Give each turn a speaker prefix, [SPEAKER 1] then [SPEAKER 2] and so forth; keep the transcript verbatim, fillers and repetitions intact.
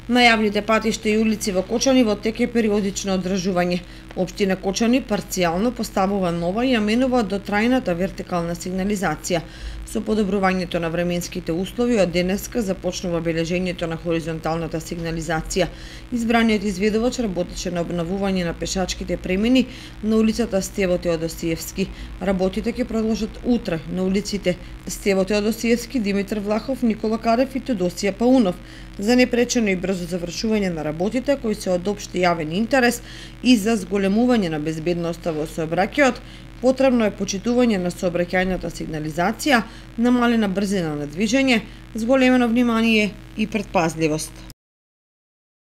[SPEAKER 1] На јавните патишта и улици во Кочани во тек е периодично одржување. Општина Кочани парцијално поставува нова и ја менува до трајната вертикална сигнализација. Со подобрувањето на временските услови од денеска започнува бележењето на хоризонталната сигнализација. Избраниот изведувач работеше на обновување на пешачките премини на улицата Стево Теодосиевски. Работите ќе продолжат утре на улиците Стево Теодосиевски, Димитар Влахов, Никола Карев и Тодосија Паунов за непречено и брзо завршување на работите кои се од општи јавен интерес и за зголемување на безбедноста во сообраќајот. Потребно е почитување на сообраќајната сигнализација, намалена брзина на движење, зголемено внимание и предпазливост.